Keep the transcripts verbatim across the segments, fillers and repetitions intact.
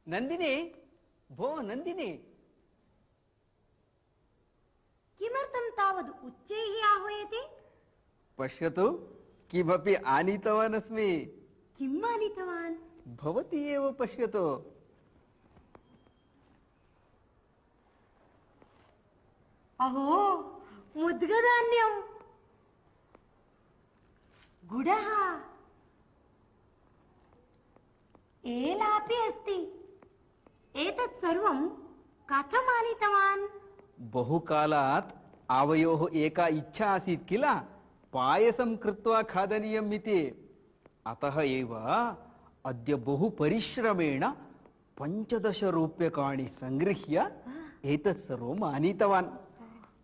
नंदिनी, भो नंदिनी, किमर्थं तावद् उच्चैः आह्वयति? पश्यतु, किमपि आनीतवान् अस्मि। किम् आनीतवान्? भवती एव पश्यतु। अहो, मुद्गधान्यम्, गुडः, एलापि अस्ति। एतत् सर्वं कथम् आनीतवान्? बहुकालात् आवयोः एका इच्छा आसीत् किल, पायसं कृत्वा खादनीयम् इति। अतः एव अद्य बहु परिश्रमेण पञ्चदश रूप्यकाणि संगृह्य एतत् सर्वम् आनीतवान्।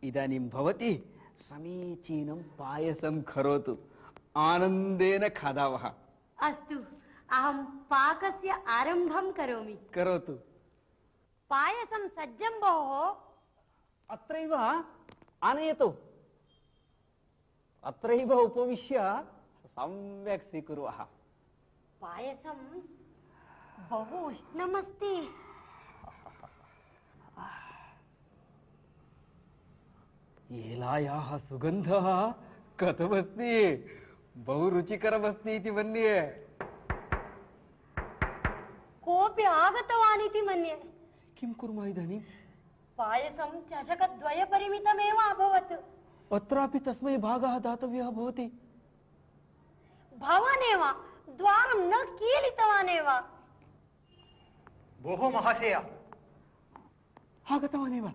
इदानीं भवती समीचीनं पायसं करोतु, आनन्देन खादावः। अस्तु, अहं पाकस्य आरम्भं करोमि। करोतु। पायसं सज्जं भोः। अत्रैव आनयतु। अत्रैव उपविश्य सम्यक् स्वीकुर्वः। पायसं बहु उष्णमस्ति। एलायाः सुगन्धः कथमस्ति? बहु रुचिकरमस्ति इति मन्ये। कोऽपि आगतवान् इति मन्ये। किं कुर्मः इदानीं? पायसं चषकद्वयपरिमितमेव अभवत्। अत्रापि तस्मै भागः दातव्यः भवति। भवानेव द्वारं न कीलितवान् एव। भोः महाशय, आगतवान् एव।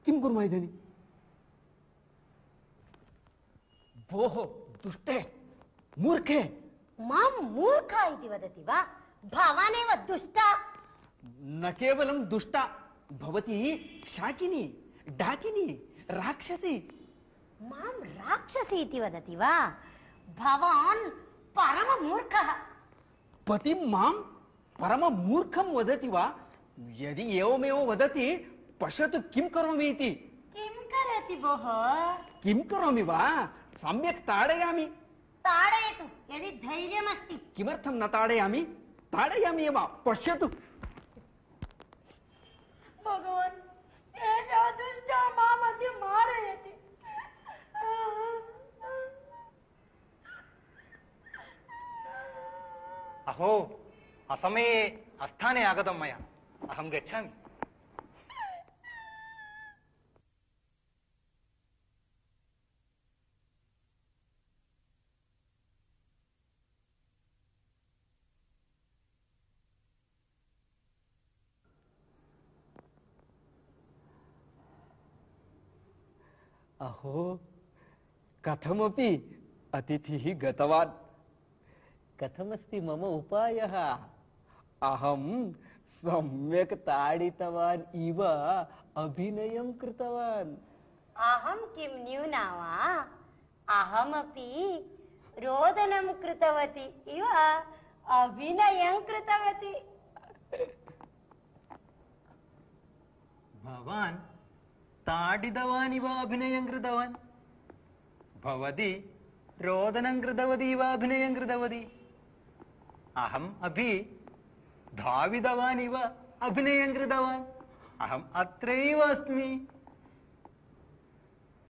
किं कुर्मः इदानीं? भोः दुष्टे, मूर्खे। मां मूर्खा इति वदति वा? भवानेव दुष्टा। न केवलं दुष्टा, भवती शाकिनी, डाकिनी, राक्षसी। मां राक्षसी इति वदति वा? भवान् परममूर्खः। पतिं मां परममूर्खं वदति वा? यदि एवमेव वदति, पश्यतु किं करोमि इति। किं करोति भोः? किं करोमि वा? सम्यक् ताडयामि। ताडयतु, यदि धैर्यमस्ति। किमर्थं न ताडयामि? ताडयामि एव, पश्यतु। भगवान्, एषा दुष्टा मामद्य मारयति। अहो, असमये अस्थाने आगतं मया। अहं गच्छामि। अहो, कथमपि अतिथिः गतवान्। कथमस्ति मम उपायः? अहं सम्यक् ताडितवान् इव अभिनयं कृतवान्। अहं किं न्यूना वा? अहमपि रोदनं कृतवती इव अभिनयं कृतवती। भवान् ताडितवान् इव अभिनयं कृतवान्। भवती रोदनं कृतवती इव अभिनयं कृतवती। अहम् अपि धावितवान् इव अभिनयं कृतवान्। अहम् अत्रैव अस्मि।